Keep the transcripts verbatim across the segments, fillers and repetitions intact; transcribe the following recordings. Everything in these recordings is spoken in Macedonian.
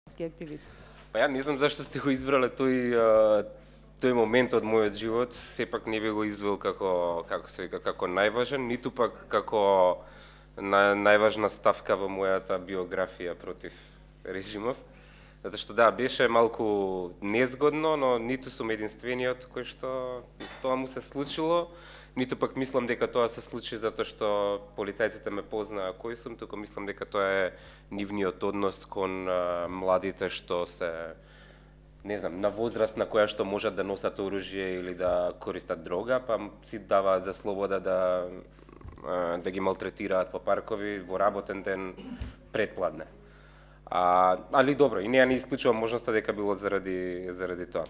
активист? Па ја не знам зашто сте го избрале тој тој момент од мојот живот, сепак не би го извел како како се вика како најважен, ниту пак како на, најважна ставка во мојата биографија против режимов. Затоа што да, беше малку незгодно, но ниту сум единствениот кој што тоа му се случило, ниту пак мислам дека тоа се случи затоа што полицајците ме познаа кој сум, туку мислам дека тоа е нивниот однос кон а, младите што се не знам, на возраст на која што можат да носат оружје или да користат дрога, па си даваат за слобода да да ги малтретираат по паркови во работен ден предпладне. А, али добро, и неа не исклучувам можноста дека било заради заради тоа.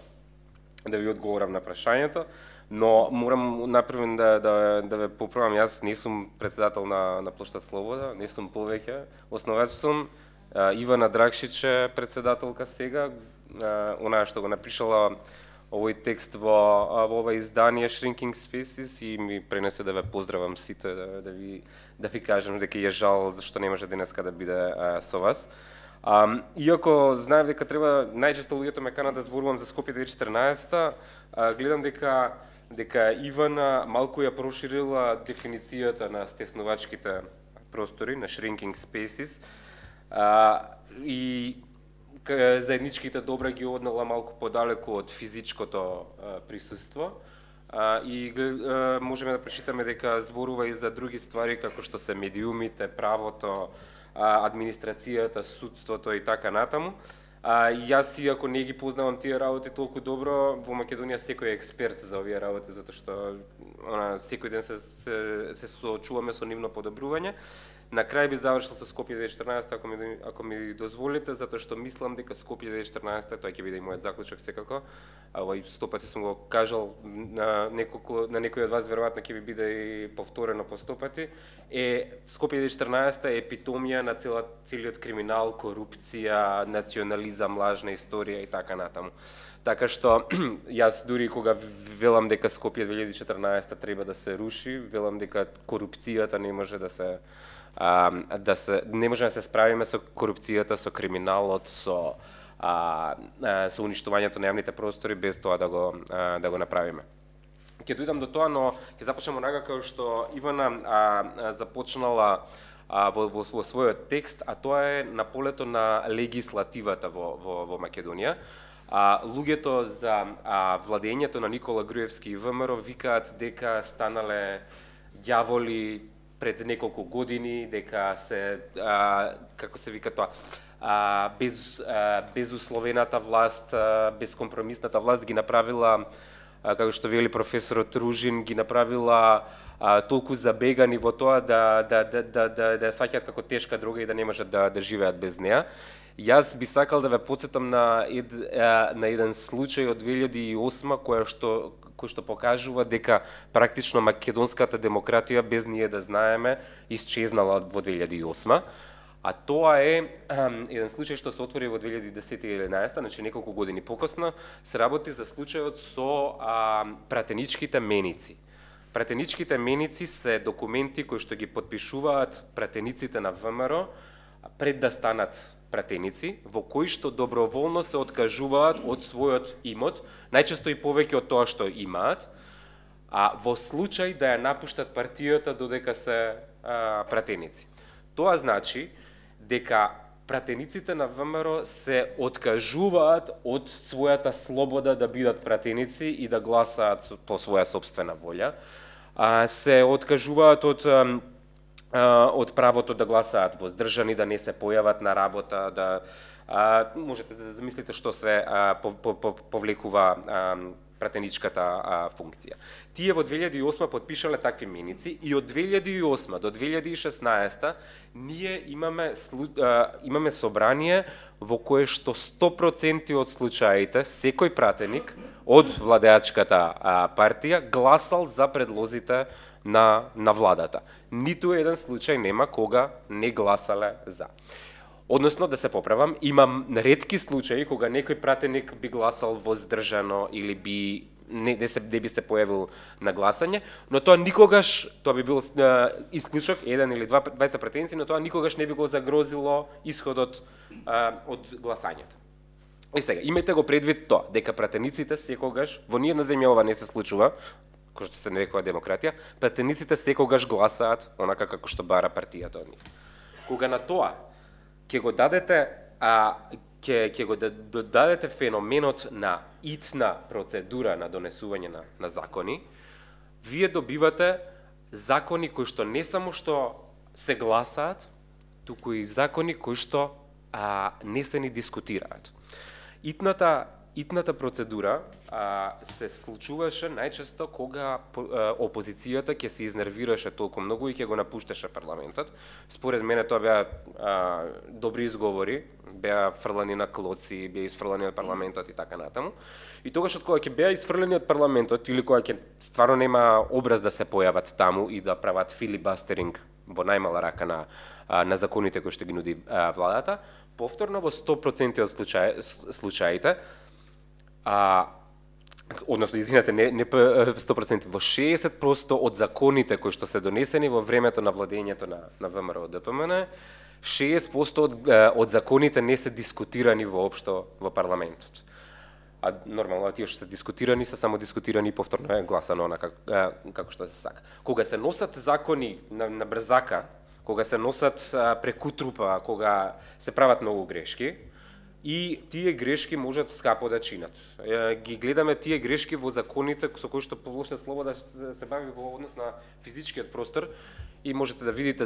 Да ви одговорам на прашањето, но морам напрвен да да да ве поправам, јас не сум председател на на плоштад Слобода, не сум повеќе, основач сум. Ивана Драгшич е председателка сега, онаа што го напишала овој текст во во ова издание Shrinking Spaces и ми пренесе да ве поздравам сите, да, да ви да ви кажам дека е жал зашто не може денеска да биде а, со вас. А, иако знаев дека треба најчесто луѓето ме канат да зборувам за Скопје две тисячи и четрнаесета, а, гледам дека дека Ивана малку ја проширила дефиницијата на стеснувачките простори, на Shrinking Spaces, а, и заедничките добра ги однела малку подалеку од физичкото а, присуство. А, и а, можеме да прочитаме дека зборува и за други ствари како што се медиумите, правото, а, администрацијата, судството и така натаму. А, јас иако не ги познавам тие работи толку добро, во Македонија секој е експерт за овие работи, затоа што она, секој ден се, се, се соочуваме со нивно подобрување. На крај би завршил со Скопје две тисячи и четрнаесета, ако ми, ако ми дозволите, затоа што мислам дека Скопје две тисячи и четрнаесета, тоа ќе биде и мојот заклучок секако, а овој сто пати сум го кажал на неколку на некој од вас, веројатно ќе ви биде и повторено по сто пати, е Скопје две тисячи и четрнаесета е епитомија на цела, целиот криминал, корупција, национализам, лажна историја и така натаму. Така што јас дури кога велам дека Скопје две илјади и четрнаесета треба да се руши, велам дека корупцијата не може да се а, да се не можеме да се справиме со корупцијата, со криминалот, со а, а, со уништувањето на јавните простори без тоа да го а, да го направиме. Ќе дојдам до тоа, но ќе започнеме онака како што Ивана а, а, започнала а, во, во, во својот текст, а тоа е на полето на легислативата во, во, во Македонија. А, луѓето за а, владењето на Никола Груевски и ВМРО викаат дека станале ѓаволи пред неколку години, дека се а, како се вика тоа, а, без а, безусловената власт, а, безкомпромисната власт ги направила, а, како што вели професорот Ружин, ги направила а, толку забегани во тоа да да да да да, да ја сваќаат како тешка друга и да не можат да да живеат без неа. Јас би сакал да ве потсетам на ед, на еден случај од две илјади и осма која што кој што покажува дека практично македонската демократија без ние да знаеме исчезнала во две илјади и осма. А тоа е еден случај што се отвори во две илјади и десета и единаесета, значи неколку години покосно, се работи за случајот со а, пратеничките меници. Пратеничките меници се документи кои што ги потпишуваат пратениците на ВМРО пред да станат пратеници, во кои што доброволно се откажуваат од својот имот, најчесто и повеќе од тоа што имаат, а во случај да ја напуштат партијата додека се а, пратеници. Тоа значи дека пратениците на ВМРО се откажуваат од својата слобода да бидат пратеници и да гласаат по своја собствена волја, а, се откажуваат од од правото да гласаат воздржани, да не се појават на работа, да а, можете да замислите што се а, по, по, по, повлекува а, пратеничката а, функција. Тие во две илјади и осма потпишале такви меници и од две илјади и осма до две илјади и шеснаесета ние имаме а, имаме собрание во кое што сто проценти од случаите секој пратеник од владеачката а, партија гласал за предлозите на на владата. Ниту еден случај нема кога не гласале за. Односно, да се поправам, имам ретки случаи кога некој пратеник би гласал воздржано или би не, не, се, не би се појавил на гласање, но тоа никогаш, тоа би бил а, исклучок, еден или два двајца претенции, но тоа никогаш не би го загрозило исходот а, од гласањето. И сега, имајте го предвид тоа, дека пратениците секогаш, во ниедна земја ова не се случува, кој што се нарекува демократија, пратениците секогаш гласаат онака како што бара партијата од нив. Кога на тоа ќе го дадете а, ќе ќе го додадете феноменот на итна процедура на донесување на, на закони, вие добивате закони кои што не само што се гласаат, туку и закони кои што а, не се ни дискутираат. Итната Итната процедура а, се случуваше најчесто кога а, опозицијата ќе се изнервираше толку многу и ќе го напушташе парламентот. Според мене тоа беа а, добри изговори, беа фрлани на клоци, беа изфрлани од парламентот и така натаму. И тогаш од кога ќе беа изфрлани од парламентот или кога ќе стварно нема образ да се појават таму и да прават филибастеринг во најмала рака на а, на законите кои што ги нуди а, владата, повторно во сто проценти од случаи, случаите А, односно, извинете, не, не сто проценти, во шеесет проценти од законите кои што се донесени во времето на владењето на, на ВМРО Д П М Н, шеесет проценти од, од законите не се дискутирани воопшто во парламентот. А нормално, тие што се дискутирани, се само дискутирани и повторно е гласано онака како што се сака. Кога се носат закони на, на брзака, кога се носат а, преку трупа, кога се прават многу грешки, и тие грешки можат скапо да чинат. Ги гледаме тие грешки во законите со кои што Полошна слобода се бави во однос на физичкиот простор и можете да видите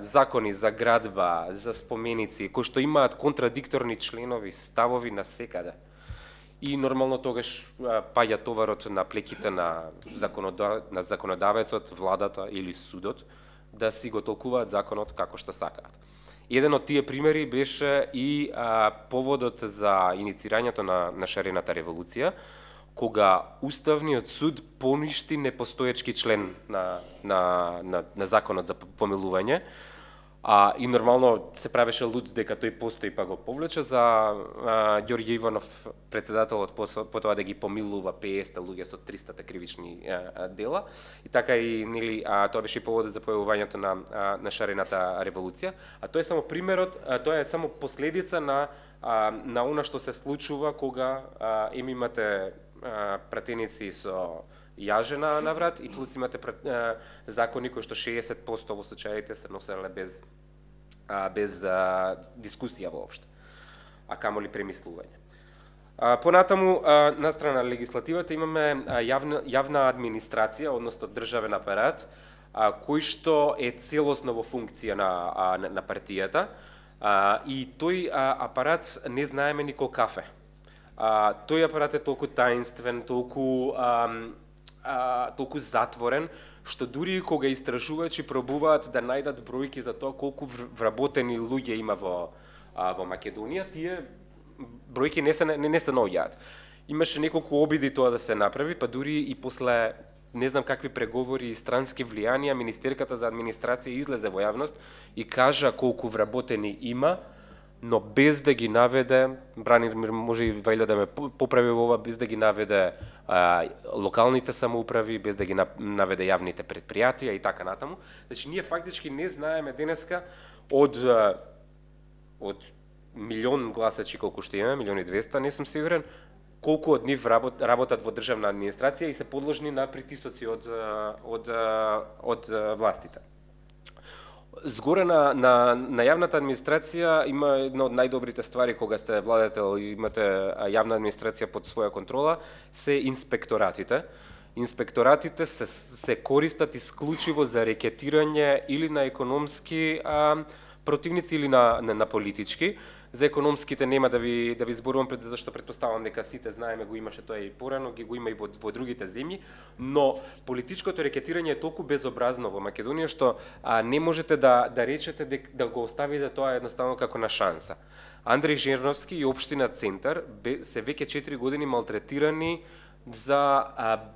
закони за градба, за споменици, кои што имаат контрадикторни членови, ставови на секаде. И нормално тогаш паѓа товарот на плеките на, законода... на законодавецот, владата или судот да си го толкуваат законот како што сакаат. Еден од тие примери беше и а, поводот за иницирањето на, на шарената револуција, кога Уставниот суд поништи непостоечки член на, на, на, на законот за помилување, а, и нормално се правеше луд дека тој постои па го повлече за а, Ѓорѓе Иванов, председателот, потоа да ги помилува петдесет луѓе со триста кривични а, дела, и така и нели а, тоа беше поводот за појавувањето на а, на шарената револуција, а тоа е само примерот, а, тоа е само последица на а, на она што се случува кога а, им имате а, пратеници со јажена на врат и плюс имате а, закони кои што шеесет проценти во случаите се носеле без а, без а, дискусија воопшто, а камоли премислување. А, понатаму, а, на страна на легислативата имаме а, јавна, јавна администрација, односно државен апарат, а, кој што е целосно во функција на, а, на, на партијата, а, и тој а, апарат не знаеме никол кафе. А, тој апарат е толку таинствен, толку а, а, толку затворен, што дури кога истражувачи пробуваат да најдат бројки за тоа колку вработени луѓе има во а, во Македонија, тие бројки не се не, не се наоѓаат. Имаше неколку обиди тоа да се направи, па дури и после не знам какви преговори и странски влијанија, Министерката за администрација излезе во јавност и кажа колку вработени има, но без да ги наведе, Бранимир може и вајде да ме поправи во ова, без да ги наведе а, локалните самоуправи, без да ги наведе јавните предпријатија и така натаму. Значи, ние фактички не знаеме денеска од од милион гласачи колку што имаме, милион и двеста, не сум сигурен, колку од нив работ, работат во државна администрација и се подложни на притисоци од од од, од властите. Згоре на, на, на јавната администрација има една од најдобрите ствари кога сте владател и имате јавна администрација под своја контрола, се инспекторатите. Инспекторатите се, се користат исклучиво за рекетирање или на економски а, противници или на, на, на политички. За економските нема да ви да ви зборувам, пред зашто претпоставам дека сите знаеме, го имаше тоа и порано, ги го има и во, во другите земји, но политичкото рекетирање е толку безобразно во Македонија што а, не можете да да речете дека да го оставите тоа едноставно како на шанса. Андреј Жерновски и општина Центар бе, се веќе четири години малтретирани за а,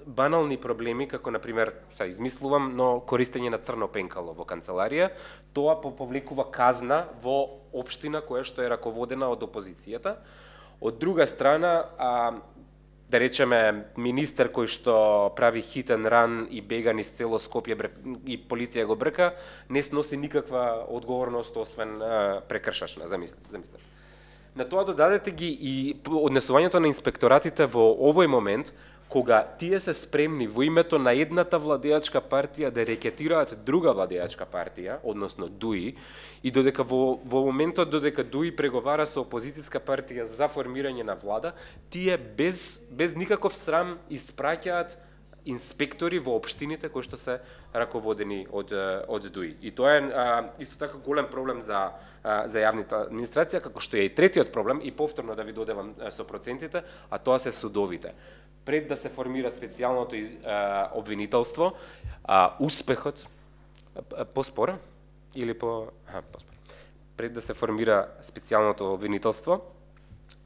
банални проблеми, како например, са измислувам, но користење на црно пенкало во канцеларија, тоа повлекува казна во општина која што е раководена од опозицијата. Од друга страна, а, да речеме, министер кој што прави hit and run и бега низ цело Скопје и полиција го брка, не сноси никаква одговорност освен прекршачна, замислете, замислете. На тоа додадете ги и однесувањето на инспекторатите во овој момент, кога тие се спремни во името на едната владеачка партија да рекетираат друга владеачка партија, односно ДУИ, и додека во, во моментот додека ДУИ преговара со опозицијска партија за формирање на влада, тие без, без никаков срам испраќаат инспектори во општините кои што се раководени од од ДУИ. И тоа е а, исто така голем проблем за а, за јавната администрација, како што е и третиот проблем, и повторно да ви додевам а, со процентите, а тоа се судовите. Пред да се формира специјалното а, обвинителство, а, успехот а, поспора или по а, поспора. Пред да се формира специјалното обвинителство,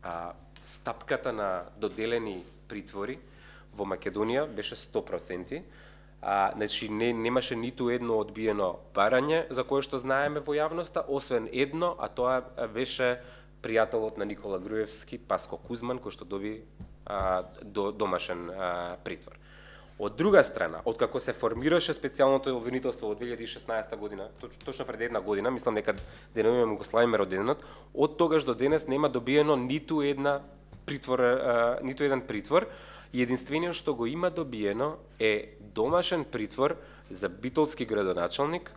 а, стапката на доделени притвори во Македонија беше сто проценти. А, значи не немаше ниту едно одбиено барање за кое што знаеме во јавноста, освен едно, а тоа беше пријателот на Никола Груевски, Паско Кузман, кој што доби а, до, домашен а, притвор. Од друга страна, откако се формираше специјалното обвинителство во две илјади и шеснаесета година, точно пред една година, мислам дека денуваме го славиме роденденот, од тогаш до денес нема добиено ниту една притвор, а, ниту еден притвор. И единствениот што го има добиено е домашен притвор за битолски градоначалник,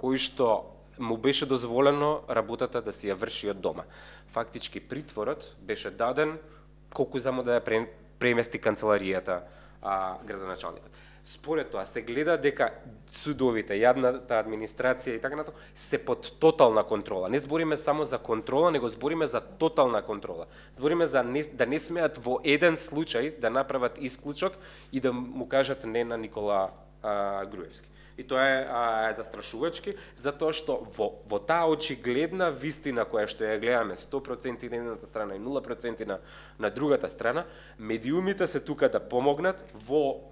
кој што му беше дозволено работата да си ја врши од дома. Фактички притворот беше даден колку само да ја премести канцеларијата а, градоначалникот. Според тоа се гледа дека судовите, јавната администрација и така натаму се под тотална контрола. Не збориме само за контрола, него збориме за тотална контрола. Збориме за не, да не смеат во еден случај да направат исклучок и да му кажат не на Никола а, Груевски. И тоа е а, застрашувачки, затоа што во, во таа очигледна вистина која што ја гледаме сто проценти на едната страна и нула проценти на, на другата страна, медиумите се тука да помогнат во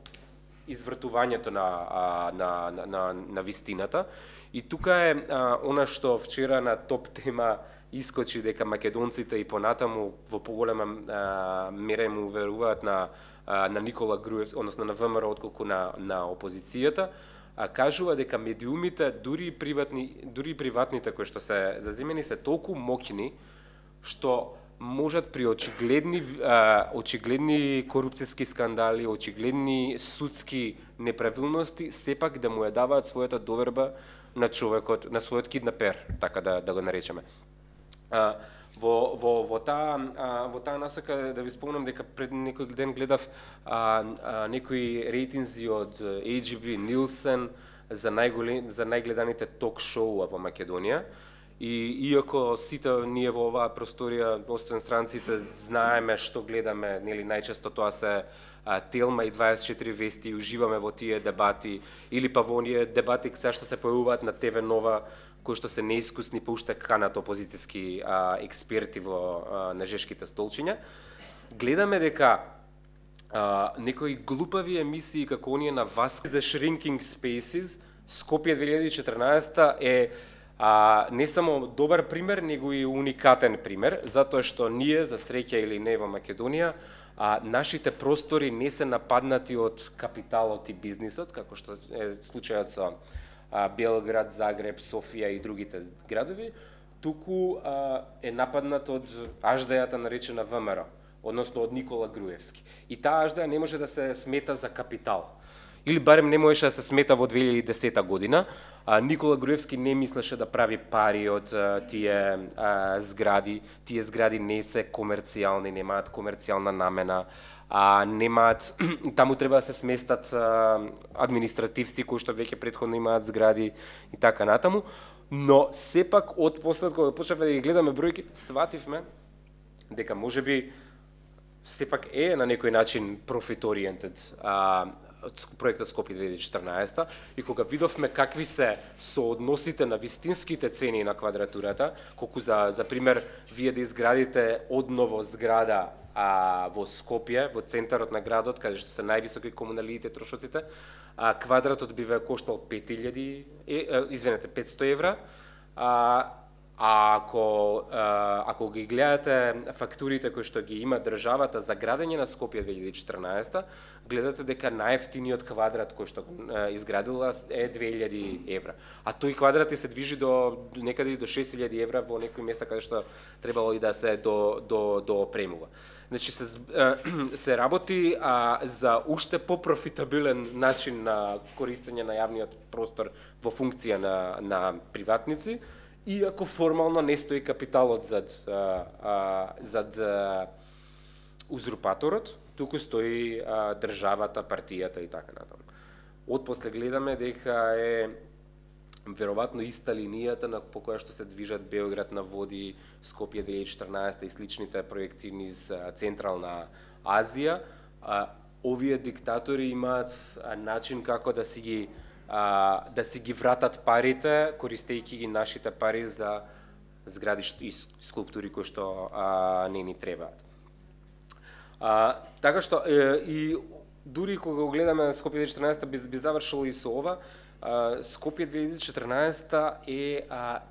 извртувањето на, на, на, на, на вистината. И тука е а, она што вчера на топ тема искочи дека македонците и понатаму во поголема а, мера му веруваат на, а, на Никола Груевски, односно на ВМРО отколку на, на опозицијата, а кажува дека медиумите, дури приватни, дури приватните кои што се заземени се толку моќни што можат при очигледни а, очигледни корупцијски скандали, очигледни судски неправилности сепак да му ја даваат својата доверба на човекот, на својот киднапер, така да да го наречеме. А, во во во таа а, во таа насока да ви спомнам дека пред некој ден гледав а, а, некои рейтинзи од А Џ Би Нилсен за најголем за најгледаните ток шоуа во Македонија. И иако сите ние во оваа просторија, освен странците, знаеме што гледаме, нели најчесто тоа се а, Телма и дваесет и четири вести, и уживаме во тие дебати, или па во оние дебати се што се појавуваат на Т В Нова, кои што се неискусни, па уште канат опозицијски а, експерти во а, на жешките столчиња. Гледаме дека а, некои глупави емисии како оние на Васко за Shrinking Spaces, Скопје две илјади и четрнаесета е А, не само добар пример, него и уникатен пример, затоа што ние, за среќа или не во Македонија, а, нашите простори не се нападнати од капиталот и бизнисот, како што е случајот со а, Белград, Загреб, Софија и другите градови, туку а, е нападнат од аждајата наречена В М Р, односно од Никола Груевски. И таа аждаја не може да се смета за капитал. Или барем не можеше да се смета во две илјади и десета година. А, Никола Груевски не мислеше да прави пари од а, тие а, згради. Тие згради не се комерцијални, немаат комерцијална намена, а немаат таму треба да се сместат а, административци кои што веќе претходно имаат згради и така натаму. Но сепак од после кога почнавме да ги гледаме бројките, свативме дека можеби сепак е на некој начин profit oriented а, проектот Скопје две илјади и четрнаесета, и кога видовме какви се соодносите на вистинските цени на квадратурата, колку за за пример вие да изградите одново зграда а, во Скопје, во центарот на градот, каде што се највисоки комуналиите трошоците, а квадратот би ве коштал пет илјади, е, извинете, петсто евра, а А ако, ако ги гледате фактурите кои што ги има државата за градење на Скопје две илјади и четрнаесета, гледате дека најефтиниот квадрат кој што изградила е две илјади евра. А тој квадрат и се движи до некаде до шест илјади евра во некои места каде што требало и да се до до до опремува. Значи се се работи а, за уште попрофитабилен начин на користење на јавниот простор во функција на на приватници. Иако формално не стои капиталот зад, а, а, зад а, узурпаторот, туку стои а, државата, партијата и така натаму. Отпосле гледаме дека е веројатно иста линијата на по која што се движат Београд на води, Скопје две илјади и четрнаесета и сличните проекти низ Централна Азија. А, овие диктатори имаат начин како да си ги А, да си ги вратат парите, користејќи ги нашите пари за згради и скулптури кои што а, не ни требаат. А, така што е, и дури кога го гледаме Скопје две илјади и четрнаесета би, би завршило и со ова, а, Скопје две илјади и четрнаесета е а,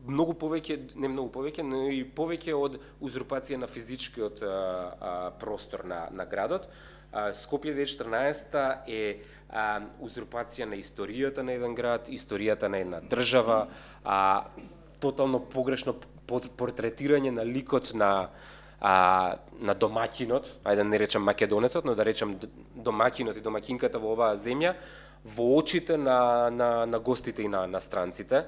многу повеќе, не многу повеќе, но и повеќе од узурпација на физичкиот а, а, простор на, на градот. А, Скопје две илјади и четрнаесета е а, узурпација на историјата на еден град, историјата на една држава, а, тотално погрешно портретирање на ликот на а, на домаќинот, ајде да не речам македонецот, но да речам домаќинот и домаќинката во оваа земја во очите на на на гостите и на на странците.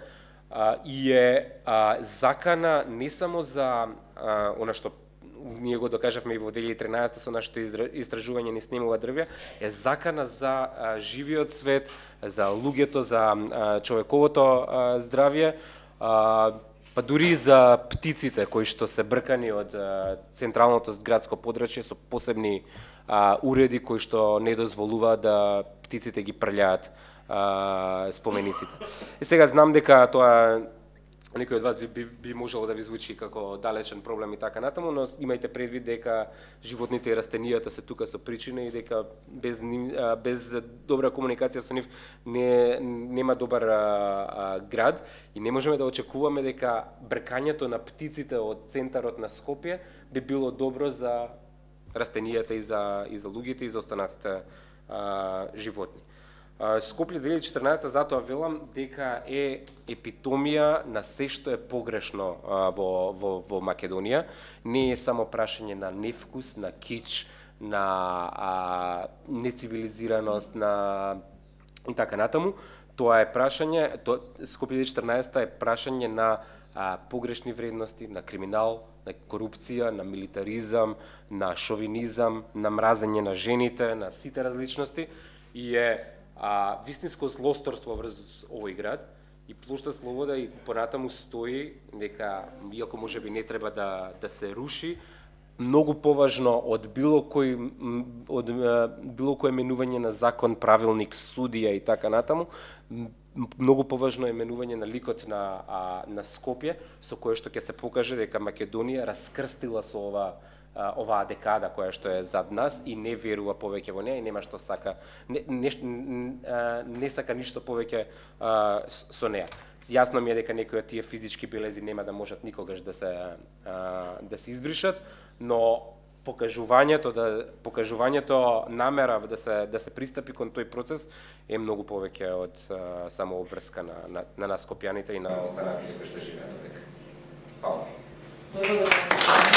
А, и е а, закана не само за а, она што ние го докажавме и во две илјади и тринаесета со нашето истражување низ Немова дрвја, е закана за а, живиот свет, за луѓето, за а, човековото а, здравје, а, па дури за птиците кои што се бркани од а, централното градско подрачје со посебни а, уреди кои што не дозволуваат да птиците ги прљаат а, спомениците. И сега знам дека тоа некој од вас би, би, би можело да ви звучи како далечен проблем и така натаму, но имајте предвид дека животните и растенијата се тука со причина и дека без без добра комуникација со нив не нема добар а, а, град и не можеме да очекуваме дека бркањето на птиците од центарот на Скопје би било добро за растенијата и за и за луѓето и за останатите а, животни. Скопје две илјади и четрнаесета затоа велам дека е епитомија на се што е погрешно а, во, во, во Македонија. Не е само прашање на невкус, на кич, на а, нецивилизираност, на и така натаму. Тоа е прашање, то, Скопје две илјади и четрнаесета е прашање на а, погрешни вредности, на криминал, на корупција, на милитаризам, на шовинизам, на мразење на жените, на сите различности и е а, вистинско злосторство врз овој град и плошта Слобода и понатаму стои дека, иако можеби не треба да, да се руши, многу поважно од било кој од било кое менување на закон, правилник, судија и така натаму, многу поважно е менување на ликот на а, на Скопје, со кое што ќе се покаже дека Македонија раскрстила со ова оваа декада која што е зад нас и не верува повеќе во неа и нема што сака не, не, не сака ништо повеќе а, со неа. Јасно ми е дека некои од тие физички белези нема да можат никогаш да се а, да се избришат, но покажувањето да покажувањето намера да се да се пристапи кон тој процес е многу повеќе од а, само обврска на на, на нас скопјаните и на останатите кои што живеат овде. Фала.